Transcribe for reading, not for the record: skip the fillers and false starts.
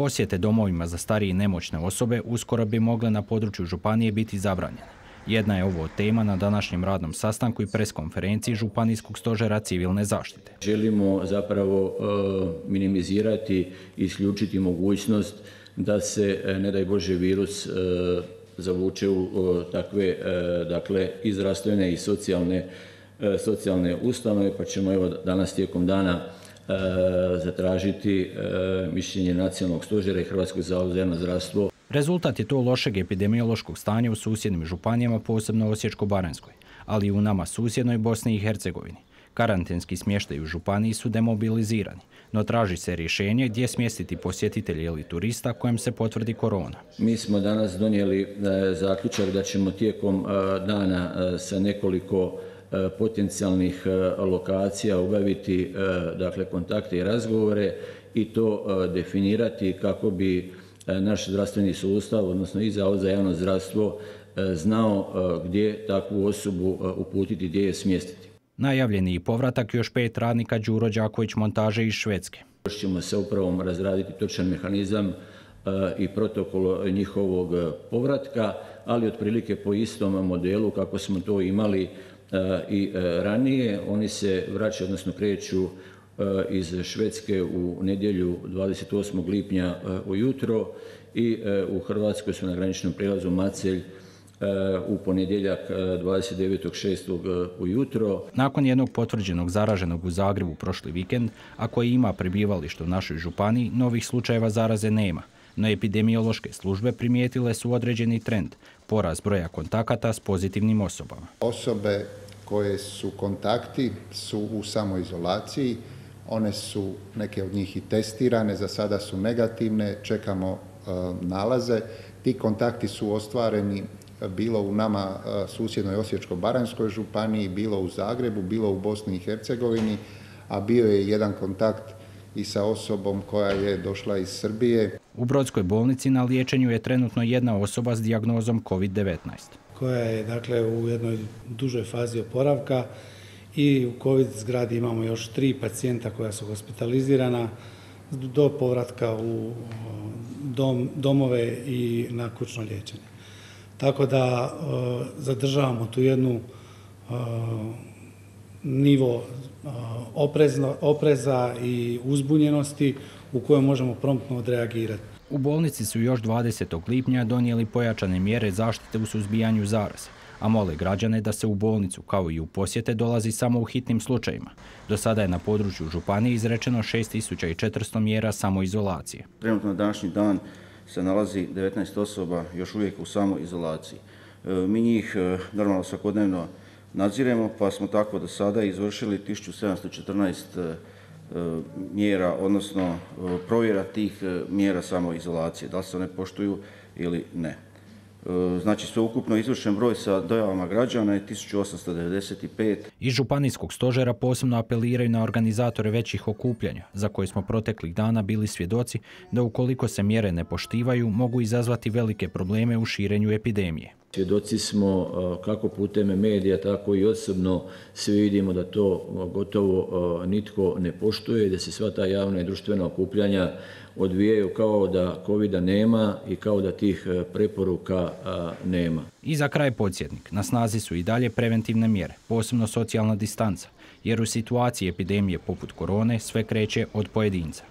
Posjete domovima za starije i nemoćne osobe uskoro bi mogle na području županije biti zabranjene. Jedna je ovo tema na današnjem radnom sastanku i preskonferenciji Županijskog stožera civilne zaštite. Želimo zapravo minimizirati i isključiti mogućnost da se, ne daj Bože, virus zavuče u takve, dakle, i zdravstvene i socijalne ustanove, pa ćemo evo danas tijekom dana zatražiti mišljenje Nacionalnog stožera i Hrvatskog zavoda za javno zdravstvo. Rezultat je to lošeg epidemiološkog stanja u susjednim županijama, posebno Osječko-baranjskoj, ali i u nama susjednoj Bosni i Hercegovini. Karantenski smještaj u županiji su demobilizirani, no traži se rješenje gdje smjestiti posjetitelje ili turista kojem se potvrdi korona. Mi smo danas donijeli zaključak da ćemo tijekom dana sa nekoliko potencijalnih lokacija obaviti, dakle, kontakte i razgovore i to definirati kako bi naš zdravstveni sustav, odnosno i Zavod za javno zdravstvo, znao gdje takvu osobu uputiti, gdje je smjestiti. Najavljeni i povratak još 5 radnika Đuro Đaković montaže iz Švedske. Još ćemo sa upravom razraditi točan mehanizam i protokol njihovog povratka, ali otprilike po istom modelu kako smo to imali i ranije. Oni se vraćaju, odnosno kreću iz Švedske u nedjelju 28. lipnja ujutro i u Hrvatskoj su na graničnom prijelazu Macelj u ponedjeljak 29.6. ujutro. Nakon jednog potvrđenog zaraženog u Zagrebu prošli vikend, a koji ima prebivalište u našoj županiji, novih slučajeva zaraze nema. No epidemiološke službe primijetile su određeni trend, porast broja kontakata s pozitivnim osobama. Osobe koje su kontakti su u samoizolaciji, one su, neke od njih i testirane, za sada su negativne, čekamo nalaze. Ti kontakti su ostvareni bilo u nama susjednoj Osječko-baranjskoj županiji, bilo u Zagrebu, bilo u Bosni i Hercegovini, a bio je jedan kontakt i sa osobom koja je došla iz Srbije. U Brodskoj bolnici na liječenju je trenutno jedna osoba s dijagnozom COVID-19. Koja je, dakle, u jednoj dužoj fazi oporavka i u COVID zgradi imamo još 3 pacijenta koja su hospitalizirana do povratka u domove i na kućno liječenje. Tako da zadržavamo tu jednu nivo opreza i uzbunjenosti u kojoj možemo promptno odreagirati. U bolnici su još 20. lipnja donijeli pojačane mjere zaštite u suzbijanju zaraze, a mole građane da se u bolnicu, kao i u posjete, dolazi samo u hitnim slučajima. Do sada je na području županije izrečeno 6400 mjera samoizolacije. Trenutno na današnji dan se nalazi 19 osoba još uvijek u samoizolaciji. Mi njih normalno svakodnevno nadziremo, pa smo tako do sada izvršili 1714 mjera, odnosno provjera tih mjera samoizolacije, da li se one poštuju ili ne. Znači, sveukupno izvršen broj sa dojavama građana je 1895. Iz Županijskog stožera posebno apeliraju na organizatore većih okupljanja, za koje smo proteklih dana bili svjedoci da ukoliko se mjere ne poštivaju, mogu izazvati velike probleme u širenju epidemije. Svjedoci smo kako putem medija, tako i osobno svi vidimo da to gotovo nitko ne poštuje, da se sva ta javna i društvena okupljanja odvijaju kao da covida nema i kao da tih preporuka nema. I za kraj podsjetnik, na snazi su i dalje preventivne mjere, posebno socijalna distanca, jer u situaciji epidemije poput korone sve kreće od pojedinca.